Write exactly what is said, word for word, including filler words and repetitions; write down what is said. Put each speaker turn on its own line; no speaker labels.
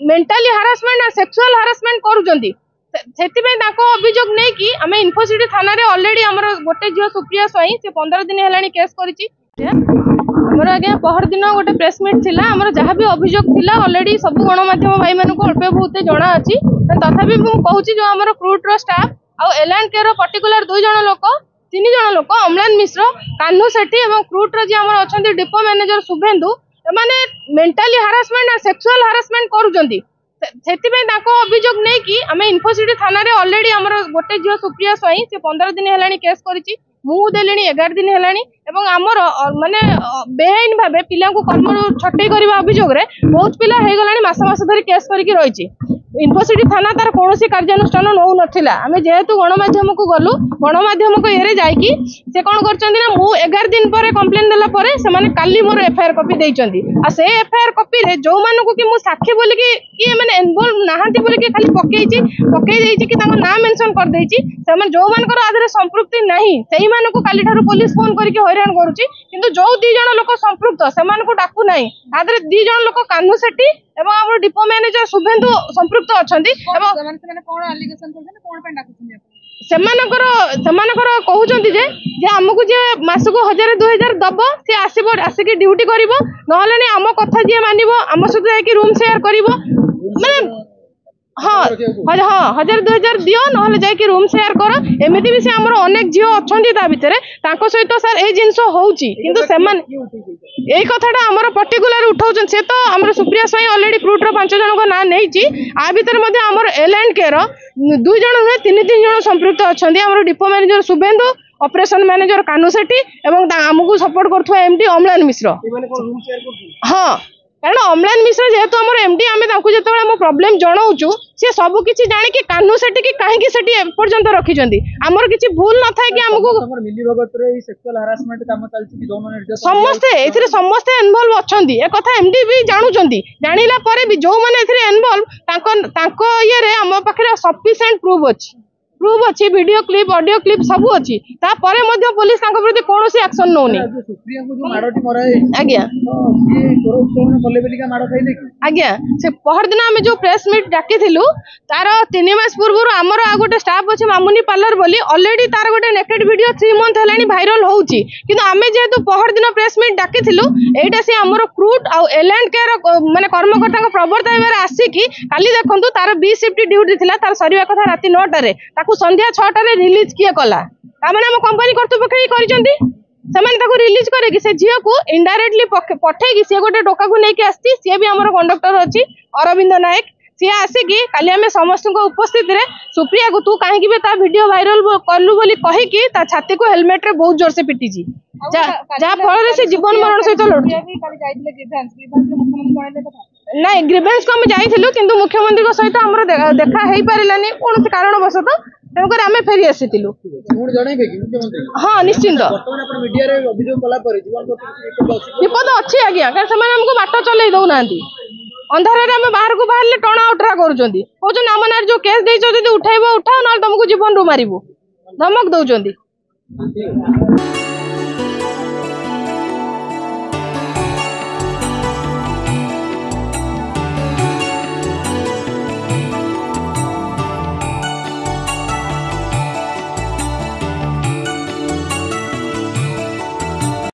Mentally harassment ଆଉ sexual harassment କରୁଛନ୍ତି। ସେଥିପାଇଁ ତାଙ୍କ ଅଭିଯୋଗ ନେଇକି ଆମେ ଇନଫୋସିଟି ଥାନାରେ ଅଲରେଡି ଆମର ଗୋଟେ ଝିଅ ସୁପ୍ରିୟା ସ୍ୱାଇଁ, ସେ ପନ୍ଦର ଦିନ ହେଲାଣି କେସ୍ କରିଛି। ଆମର ଆଜ୍ଞା ପହରଦିନ ଗୋଟେ ପ୍ରେସ୍ ମିଟ୍ ଥିଲା। ଆମର ଯାହା ବି ଅଭିଯୋଗ ଥିଲା, ଅଲରେଡି ସବୁ ଗଣମାଧ୍ୟମ ଭାଇମାନଙ୍କୁ ଅଳ୍ପ ବହୁତ ଜଣା ଅଛି। ତଥାପି ମୁଁ କହୁଛି, ଯୋଉ ଆମର କ୍ରୁଟ୍ର ଷ୍ଟାଫ୍ ଆଉ ଏଲ୍ ଆଣ୍ଡ କେ ର ପର୍ଟିକୁଲାର ଦୁଇ ଜଣ ଲୋକ, ତିନି ଜଣ ଲୋକ, ଅମ୍ଳାନ ମିଶ୍ର, କାହ୍ନୁ ସେଠୀ ଏବଂ କ୍ରୁଟ୍ର ଯିଏ ଆମର ଅଛନ୍ତି ଡିପୋ ମ୍ୟାନେଜର ଶୁଭେନ୍ଦୁ, ଏମାନେ ମେଣ୍ଟାଲି ହାରାସମେଣ୍ଟ ଆଉ ସେକ୍ସୁଆଲ ହାରାସମେଣ୍ଟ କରୁଛନ୍ତି। ସେଥିପାଇଁ ତାଙ୍କ ଅଭିଯୋଗ ନେଇକି ଆମେ ଇନଫୋସିଟି ଥାନାରେ ଅଲରେଡି ଆମର ଗୋଟେ ଝିଅ ସୁପ୍ରିୟା ସ୍ୱାଇଁ, ସେ ପନ୍ଦର ଦିନ ହେଲାଣି କେସ୍ କରିଛି। ମୁଁ ଦେଲିଣି ଏଗାର ଦିନ ହେଲାଣି। ଏବଂ ଆମର ମାନେ ବେଆଇନ ଭାବେ ପିଲାଙ୍କୁ କର୍ମରୁ ଛଟେଇ କରିବା ଅଭିଯୋଗରେ ବହୁତ ପିଲା ହେଇଗଲାଣି, ମାସ ମାସ ଧରି କେସ୍ କରିକି ରହିଛି। ଇନଫୋସିଟି ଥାନା ତାର କୌଣସି କାର୍ଯ୍ୟାନୁଷ୍ଠାନ ନେଉନଥିଲା। ଆମେ ଯେହେତୁ ଗଣମାଧ୍ୟମକୁ ଗଲୁ, ଗଣମାଧ୍ୟମକୁ ଇଏରେ ଯାଇକି ସେ କଣ କରିଛନ୍ତି ନା, ମୁଁ ଏଗାର ଦିନ ପରେ କମ୍ପ୍ଲେନ ଦେଲା ପରେ ସେମାନେ କାଲି ମୋର ଏଫଆଇଆର କପି ଦେଇଛନ୍ତି। ଆଉ ସେ ଏଫଆଇଆର କପିରେ ଯୋଉମାନଙ୍କୁ କି ମୁଁ ସାକ୍ଷୀ ବୋଲିକି କି ଏମାନେ ଇନଭଲ୍ଭ ନାହାନ୍ତି ବୋଲିକି ଖାଲି ପକେଇଛି, ପକେଇ ଦେଇଛି କି ତାଙ୍କ ନାଁ ମେନସନ କରିଦେଇଛି, ସେମାନେ ଯୋଉମାନଙ୍କର ଆ ଦେହରେ ସମ୍ପୃକ୍ତି ନାହିଁ, ସେଇମାନଙ୍କୁ କାଲିଠାରୁ ପୋଲିସ ଫୋନ କରିକି ହଇରାଣ କରୁଛି। କିନ୍ତୁ ଯୋଉ ଦି ଜଣ ଲୋକ ସମ୍ପୃକ୍ତ, ସେମାନଙ୍କୁ ଡାକୁ ନାହିଁ। ତା ଦେହରେ ଦି ଜଣ ଲୋକ କାହ୍ନୁ ସେଠୀ ଏବଂ ଆମର ଡିପୋ ମ୍ୟାନେଜର ଶୁଭେନ୍ଦୁ ସମ୍ପୃକ୍ତ ଅଛନ୍ତି। ଏବଂ ସେମାନଙ୍କର ସେମାନଙ୍କର କହୁଛନ୍ତି ଯେ ଯେ ଆମକୁ ଯିଏ ମାସକୁ ହଜାରେ ଦୁଇ ହଜାର ଦବ, ସିଏ ଆସିବ, ଆସିକି ଡ୍ୟୁଟି କରିବ, ନହେଲେ ନାଇଁ ଆମ କଥା ଯିଏ ମାନିବ, ଆମ ସହିତ ଯାଇକି ରୁମ୍ ସେୟାର କରିବ। ମାନେ ହଁ ହଁ, ହଜାର ଦୁଇ ହଜାର ଦିଅ, ନହେଲେ ଯାଇକି ରୁମ୍ ସେୟାର କର। ଏମିତି ବି ସେ ଆମର ଅନେକ ଝିଅ ଅଛନ୍ତି ତା ଭିତରେ, ତାଙ୍କ ସହିତ ସାର୍ ଏଇ ଜିନିଷ ହଉଛି। କିନ୍ତୁ ସେମାନେ ଏଇ କଥାଟା ଆମର ପର୍ଟିକୁଲାର ଉଠାଉଛନ୍ତି। ସେ ତ ଆମର ସୁପ୍ରିୟା ସ୍ୱାଇଁ ଅଲରେଡି କ୍ରୁଟ୍ର ପାଞ୍ଚ ଜଣଙ୍କ ନାଁ ନେଇଛି। ଆ ଭିତରେ ମଧ୍ୟ ଆମର ଏଲ୍ ଆଣ୍ଡ କେ ର ଦୁଇ ଜଣ ନୁହେଁ, ତିନି ତିନି ଜଣ ସମ୍ପୃକ୍ତ ଅଛନ୍ତି, ଆମର depot manager Subhendu, operation manager Kanhu Sethi ଏବଂ ଆମକୁ ସପୋର୍ଟ କରୁଥିବା ଏମଡି ଅମ୍ଳାନ ମିଶ୍ର। ହଁ, କାରଣ ଅମ୍ଳାନ ମିଶ୍ର ଯେହେତୁ ଆମର ଏମଡି, ଆମେ ତାଙ୍କୁ ଯେତେବେଳେ ଆମ ପ୍ରୋବ୍ଲେମ ଜଣାଉଛୁ, ସେ ସବୁ କିଛି ଜାଣିକି କାହ୍ନୁ ସେଠିକି କାହିଁକି ସେଠି ଏପର୍ଯ୍ୟନ୍ତ ରଖିଛନ୍ତି? ଆମର କିଛି ଭୁଲ ନଥାଏ କି ଆମକୁ ସମସ୍ତେ ଏଥିରେ ସମସ୍ତେ ଇନଭଲ୍ଭ ଅଛନ୍ତି, ଏ କଥା ଏମଡି ବି ଜାଣୁଛନ୍ତି। ଜାଣିଲା ପରେ ବି ଯୋଉମାନେ ଏଥିରେ ଇନଭଲ୍ଭ, ତାଙ୍କ ତାଙ୍କ ଇଏରେ ଆମ ପାଖରେ ସଫିସିଏଣ୍ଟ ପ୍ରୁଫ୍ ଅଛି, ପ୍ରୁଫ୍ ଅଛି, ଭିଡିଓ କ୍ଲିପ୍, ଅଡିଓ କ୍ଲିପ୍ ସବୁ ଅଛି। ତାପରେ ମଧ୍ୟ ପୋଲିସ ତାଙ୍କ ପ୍ରତି କୌଣସି ଆକ୍ସନ ନଉନି ଆଜ୍ଞା। ଆଜ୍ଞା, ସେ ପହରଦିନ ଆମେ ଯୋଉ ପ୍ରେସ୍ ମିଟ୍ ଡାକିଥିଲୁ, ତାର ତିନି ମାସ ପୂର୍ବରୁ ଆମର ଆଉ ଗୋଟେ ଷ୍ଟାଫ୍ ଅଛି ମାମୁନି ପାର୍ଲର ବୋଲି, ଅଲରେଡି ତାର ଗୋଟେ ନେକେଡ୍ ଭିଡିଓ ଥ୍ରୀ ମନ୍ଥ ହେଲାଣି ଭାଇରାଲ ହଉଛି। କିନ୍ତୁ ଆମେ ଯେହେତୁ ପହରଦିନ ପ୍ରେସ୍ ମିଟ୍ ଡାକିଥିଲୁ, ଏଇଟା ସେ ଆମର କ୍ରୁଟ୍ ଆଉ ଏଲ୍ ଆଣ୍ଡ କେ ର ମାନେ କର୍ମକର୍ତ୍ତାଙ୍କ ପ୍ରବର୍ତ୍ତାଇବାରେ ଆସିକି କାଲି ଦେଖନ୍ତୁ, ତାର ବି ସିଫ୍ଟ ଡ୍ୟୁଟି ଥିଲା, ତାର ସରିବା କଥା ରାତି ନଅଟାରେ, ତାକୁ ସନ୍ଧ୍ୟା ଛଅଟାରେ ରିଲିଜ କିଏ କଲା? ତାମାନେ ଆମ କମ୍ପାନୀ କର୍ତ୍ତୃପକ୍ଷ ହିଁ କରିଛନ୍ତି। ସେମାନେ ତାକୁ ରିଲିଜ କରିକି ସେ ଝିଅକୁ ଇନଡାଇରେକ୍ଟଲି ପଠେଇକି, ସିଏ ଗୋଟେ ଟୋକାକୁ ନେଇକି ଆସିଛି, ସିଏ ବି ଆମର କଣ୍ଡକ୍ଟର ଅଛି ଅରବିନ୍ଦ ନାୟକ। ସିଏ ଆସିକି କାଲି ଆମେ ସମସ୍ତଙ୍କ ଉପସ୍ଥିତିରେ ସୁପ୍ରିୟାକୁ ତୁ କାହିଁକି ବି ତା ଭିଡିଓ ଭାଇରାଲ କଲୁ ବୋଲି କହିକି ତା ଛାତିକୁ ହେଲମେଟରେ ବହୁତ ଜୋରସେ ପିଟିଛି, ଯାହା ଫଳରେ ସେ ଜୀବନ ମରଣ ସହିତ ଲଢୁଛି। ନାଇଁ, ଗ୍ରିଭେନ୍ସକୁ ଆମେ ଯାଇଥିଲୁ, କିନ୍ତୁ ମୁଖ୍ୟମନ୍ତ୍ରୀଙ୍କ ସହିତ ଆମର ଦେଖା ହେଇପାରିଲାନି କୌଣସି କାରଣବଶତଃ, ତେଣୁକରି ଆମେ ଫେରି ଆସିଥିଲୁ। ହଁ, ନିଶ୍ଚିନ୍ତ ବିପଦ ଅଛି ଆଜ୍ଞା, କାରଣ ସେମାନେ ଆମକୁ ବାଟ ଚଲେଇ ଦଉନାହାନ୍ତି। ଅନ୍ଧାରରେ ଆମେ ବାହାରକୁ ବାହାରିଲେ ଟଣା ଓଟରା କରୁଛନ୍ତି, କହୁଛନ୍ତି ଆମ ନାଁରେ ଯୋଉ କେସ୍ ଦେଇଛ ଯଦି ଉଠେଇବ ଉଠାଅ, ନହେଲେ ତମକୁ ଜୀବନରୁ ମାରିବୁ, ଧମକ ଦଉଛନ୍ତି।